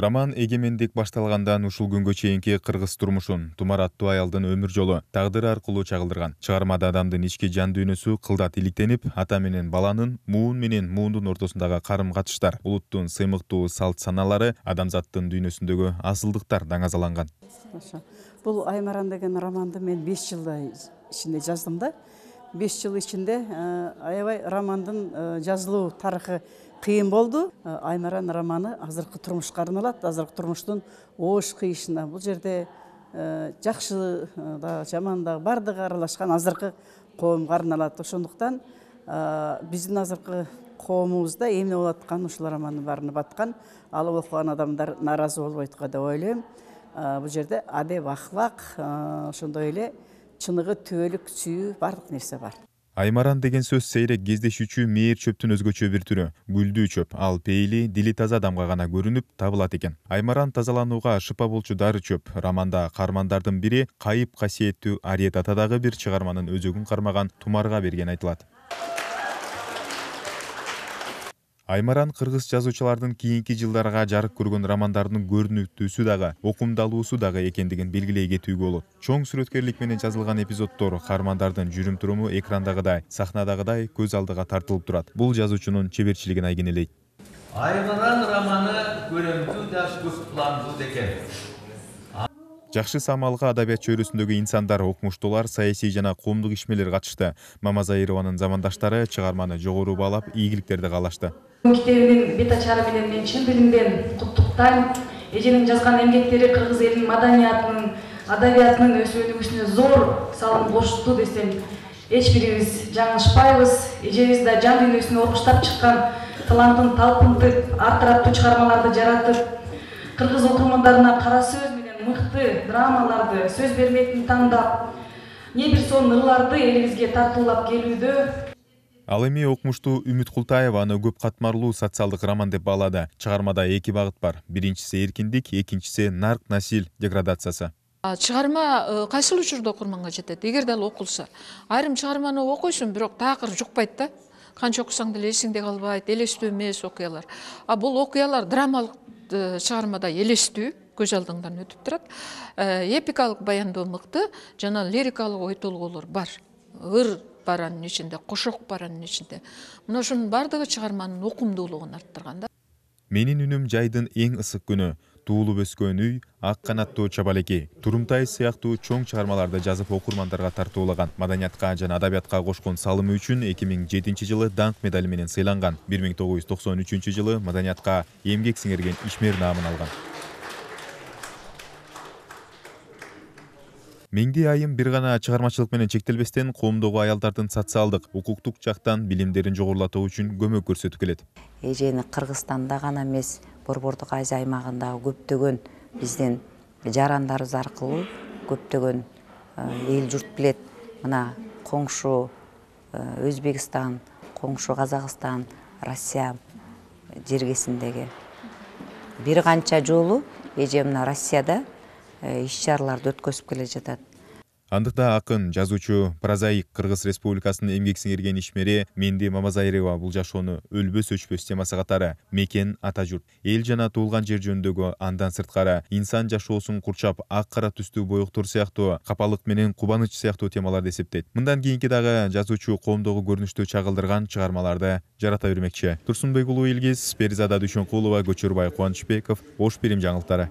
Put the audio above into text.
Роман эгемендик башталгандан ушул күнгө чейинки кыргыз турмушун, Тумар аттуу аялдын өмүр жолу, тагдыры аркылуу чагылдырган. Чыгармада адамдын ички жан дүйнөсү кылдат иликтенип, ата менен баланын, муун менен муундун ортосундагы карым-катыштар, улуттун сыймыктуу салт саналары, адамзаттын дүйнөсүндөгү асылдыктар даңазаланган. Бул Аймаран деген романды мен 5 жылдай ичинде жаздым да. 5 жыл ичинде аябай романдын жазылуу тарыхы кыйын болду. Аймаран романы азыркы турмушка арналат, азыркы турмуштун оош кыйышына. Бул жерде жакшы да, жаман да бардыгы аралашкан азыркы коомго арналат. Ошондуктан биздин азыркы коомубузда эмне болуп аткан ушул романдын баарына баткан, ал окуган адамдар нааразы болбойт го деп ойлойм. Бул жерде адеп, ахлак, ошондой эле чыныгы, түбөлүк, сүйүү бардык нерсе бар. Аймаран деген сөз сейрек кездешүүчү мээр чөптүн өзгөчө бир түрү. Гүлдүү чөп, ал пейили, дили таза адамга гана көрүнүп табылат экен. Аймаран тазаланууга шыпа болчу дары чөп. Романда каармандардын бири кайып касиеттүү Ариет ата дагы бир чыгарманын өзөгүн кармаган Тумарга берген айтылат. Аймаран кыргыз жазуучулардын кийинки жылдарга жарык көргөн романдардын көрүнүктүүсү дагы, окумдалуусу дагы экендигин белгилей кетүүгө болот. Чоң сүрөткерлик менен жазылган эпизоддор каармандардын жүрүм-туруму экрандагыдай, сахнадагыдай көз алдыга тартылып турат. Бул жазуучунун чеберчилигин айгинелейт. Аймаран романы көрөмдүү да көп пландуу экен. Жакшы самалга адабият чөйрөсүндөгү инсандар, окумуштуулар, саясий жана коомдук ишмерлер катышты. Мамазайырованын замандаштары чыгарманы жогору баалап, ийгиликтерди каалашты. Китебинин бет ачары менен мен чын дилимден куттуктайм. Эженин жазган эмгектери кыргыз элинин маданиятынын, адабиятынын өсүп-өнүгүшүнө зор салым кошту десем эч бирибиз жаңылышпайбыз. Эжебиз да жан дүйнөсүн оркуштап чыккан талантын талпынтып, артыраттуу чыгармаларды жаратып, кыргыз окурмандарына кара сөз менен мыкты драмаларды, сөз бермейтин тандап, не бир сон ырларды элибизге тартуулап келүүдө. Ал эми окумуштуу Үмүт Култаева аны көп катмарлуу социалдык роман деп баалады. Чыгармада эки багыт бар. Биринчиси эркиндик, экинчиси нарк насил деградациясы. Чыгарма кайсыл учурда окурманга жетет? Эгерде ал окулса, айрым чыгарманы окуйсуң, бирок такыр жукпайт да. Канча окусаң деле эсиңде калбайт, элестүү эмес окуялар. Бул окуялар драмалык чыгармада элестүү көз алдыңдан өтүп турат. Эпикалык баяндоо мыкты, жана лирикалык ой толгоолор бар. Ыр баранын ичинде, кошок баранын ичинде. Мына ошонун бардыгы чыгарманын окумдуулугун арттырган да. Менин үнүм жайдын эң ысык күнү, туулуп өскөн үй, ак канаттуу чабалекей, Турумтай сыяктуу чоң чыгармаларды жазып окурмандарга тартуулаган, маданиятка жана адабиятка кошкон салымы үчүн 2007 жылы даңк медали менен сыйланган, 1993 жылы маданиятка эмгек сиңирген ишмер наамын алган. Меңди айым бир гана чыгармачылык менен чектелбестен коомдогу аялдардын социалдык, укуктук жактан билимдерин жогорулатуу үчүн көмөк көрсөтүп келет. Эжени Кыргызстанда гана эмес, Борбордук Азия аймагындагы көптөгөн биздин жарандарыбыз аркылуу көптөгөн эл журт билет. Мына коңшу Өзбекстан, коңшу Казакстан, Россия жергесиндеги бир канча жолу эже мына Россияда иш-чараларды өткөзүп келе жатат. Андыкта акын, жазуучу, прозаик Кыргыз Республикасынын эмгек сиңирген ишмери Менди Мамазайырова бул жашоону өлбөс өчпөс темасы катары мекен, ата журт, эл жана туулган жер жөнүндөгү, андан сырткары инсан жашоосун курчап ак-кара түстүү боектор сыяктуу, капалык менен кубаныч сыяктуу темаларды эсептейт. Мындан кийинки дагы жазуучу коомдогу көрүнүштү чагылдырган чыгармаларды жарата бермекчи. Турсунбек уулу Илгиз, Перизада Дүйшөнкулова, Көчөрбай Кубанычбеков, Ош Бирим жаңылыктары.